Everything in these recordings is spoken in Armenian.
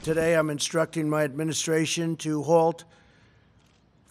Today I'm instructing my administration to halt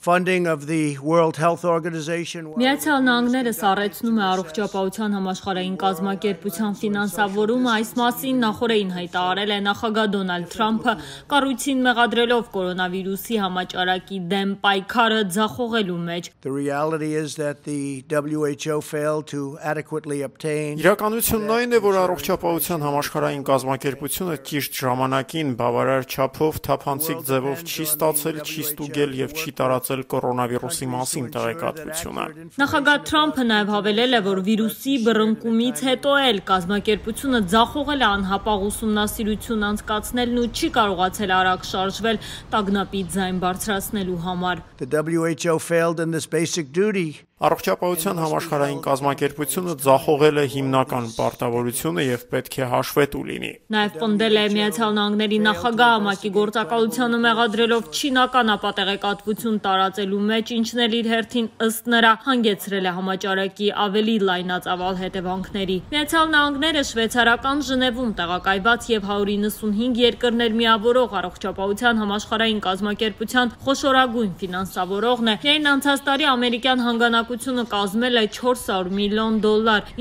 funding of the World Health Organization. Միացյալ Նահանգները սառեցնում է առողջապահության համաշխարհային կազմակերպության ֆինանսավորումը, այս մասին նախորդին հայտարարել է նախագահ Դոնալդ Թրամփը, կառույցին մեղադրելով կորոնավիրուսի համաճարակի դեմ պայքարը ձախողելու մեջ. The reality is that the WHO failed to adequately obtain. Իրականությունն այն է, որ առողջապահության համաշխարհային կազմակերպությունը ճիշտ ժամանակին բավարար չափով թափանցիկ ձևով չի ստացել, չի ստուգել եւ չի տարածել կորոնավիրուսի մասին տեղեկատվությունը։ Նախագահ Թրամփը նաև հավելել է, որ վիրուսի բռնկումից հետո էլ կազմակերպությունը ձախողել է անհապաղ ուսումնասիրություն անցկացնելն ու չի կարողացել արագ շարժվել տագնապի ձայն բարձրացնելու համար. The WHO failed in this basic duty. Առողջապահության համաշխարհային կազմակերպությունը ձախողել է հիմնական պարտավորությունը եւ պետք է հաշվետու լինի։ Նաև պնդել է Միացյալ Նահանգների նախագահը ՄԱԿ-ի գործակալությանը մեղադրելով չինական ապատեղեկատվություն տարածելու մեջ, ինչն էլ իր հերթին ըստ նրա հանգեցրել է համաճարակի ավելի լայնածավալ հետևանքների։ Միացյալ Նահանգները շվեյցարական Ժնևում տեղակայված եւ 195 երկրներ միավորող առողջապահության համաշխարհային կազմակերպության խոշորագույն ֆինանսավորողն է։ Միայն անցած տարի ամերիկյան հանգանակությունը կազմել է $400 միլիոն,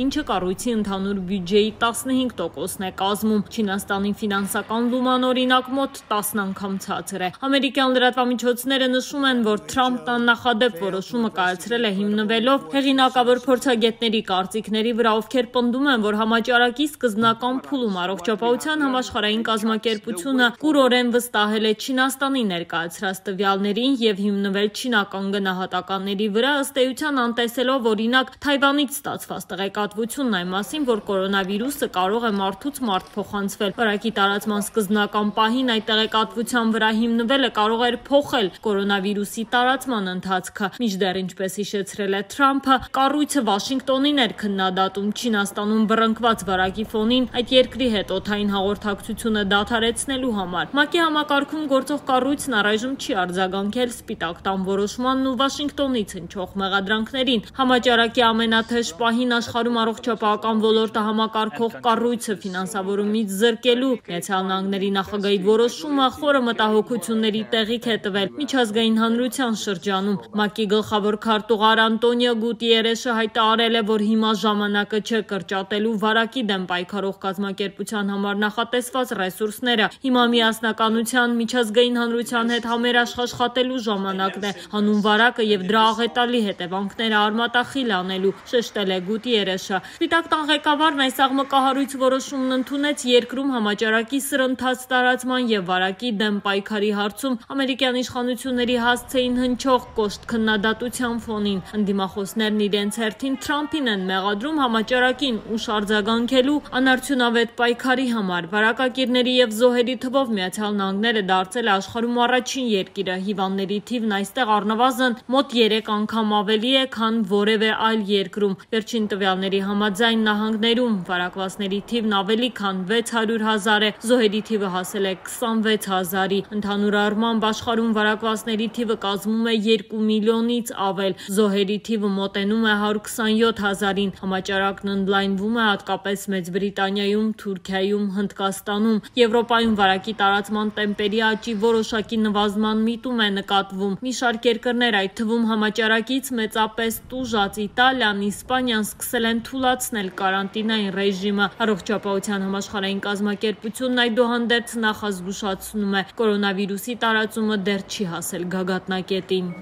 ինչը կառույցի ընդհանուր բյուջեի 15%-ն է կազմում։ Չինաստանի ֆինանսական լուման օրինակ մոտ 10 անգամ ցածր է։ Ամերիկյան լրատվամիջոցները նշում են, որ Թրամփն աննախադեպ որոշումը կայացրել է հիմնվելով հեղինակավոր փորձագետների կարծիքների վրա, ովքեր պնդում են, որ համաճարակի սկզբնական փուլում առողջապահության համաշխարհային կազմակերպությունը կուրորեն վստահել է Չինաստանի ներկայացրած տվյալներին եւ հիմնվել չինական գնահատականների վրա, ըստ էության անտեսելով օրինակ Թայվանից ստացված տեղեկատվությունն այն մասին, որ կորոնավիրուսը կարող է մարդուց մարդ փոխանցվել։ Վարակի տարածման սկզբնական պահին այդ տեղեկատվության վրա հիմնվելը կարող էր փոխել կորոնավիրուսի տարածման ընթացքը։ Մինչդեռ, ինչպես հիշեցրել է Թրամփը, կառույցը Վաշինգտոնին էր քննադատում Չինաստանում բռնկված վարակի ֆոնին այդ երկրի հետ օդային հաղորդակցությունը դադարեցնելու համար։ ՄԱԿ-ի համակարգում գործող կառույցն առայժմ չի արձագանքել Սպիտակ տան որոշմանն ու Վաշինգտոնից հնչող մեղադրանքներին։ Համաճարակի ամենաթեժ պահին աշխարհում առողջապահական ոլորտը համակարգող կառույցը ֆինանսավորումից զրկելու Միացյալ Նահանգների նախագահի որոշումը խորը մտահոգությունների տեղիք է տվել միջազգային հանրության շրջանում։ ՄԱԿ-ի գլխավոր քարտուղար Անտոնիո Գուտիերեշը հայտարարել է, որ հիմա ժամանակը չէ կրճատելու վարակի դեմ պայքարող կազմակերպության համար նախատեսված ռեսուրսները։ Հիմա միասնականության միջազգային հանրության հետ համերաշխ աշխատելու ժամանակն է, հանուն վարակը եւ դրա աղետալի հետևանքները արմատախիլ անելու, շեշտել է Գուտիերեշը։ Սպիտակ տան ղեկավարն այս աղմկահարույց որոշումն ընդունեց երկրում համաճարակի սրընթաց տարածման եւ վարակի դեմ պայքարի հարցում ամերիկյան իշխանությունների հասցեին հնչող կոշտ քննադատության ֆոնին։ Ընդդիմախոսներն իրենց հերթին Թրամփին են մեղադրում համաճարակին ուշ արձագանքելու անարդյունավետ պայքարի համար։ Վարակակիրների եւ զոհերի թվով Միացյալ Նահանգները դարձել է աշխարհում առաջին երկիրը։ Հիվանդների թիվն այստեղ առնվազն մոտ 3 անգամ ավելի է, քան որևէ այլ երկրում։ Վերջին տվյալների համաձայն նահանգներում վարակվածների թիվն ավելի քան 600,000 է, զոհերի թիվը հասել է 26,000-ի։ Ընդհանուր առմամբ աշխարհում վարակվածների թիվը կազմում է 2 միլիոնից ավել, զոհերի թիվը մոտենում է 127,000-ին։ Համաճարակն ընդլայնվում է հատկապես Մեծ Բրիտանիայում, Թուրքիայում, Հնդկաստանում։ Եվրոպայում վարակի տարածման տեմպերի աճի որոշակի նվազման միտում է նկատվում։ Մի շարք երկրներ, այդ թվում համաճարակից մեծապես տուժած Իտալիան, Իսպանիան սկսել են թուլացնել կարանտինային ռեժիմը։ Առողջապահության համաշխարհային կազմակերպությունն այդուհանդերձ նախազգուշացնում է, կորոնավիրուսի տարածումը դեռ չի հասել գագաթնակետին։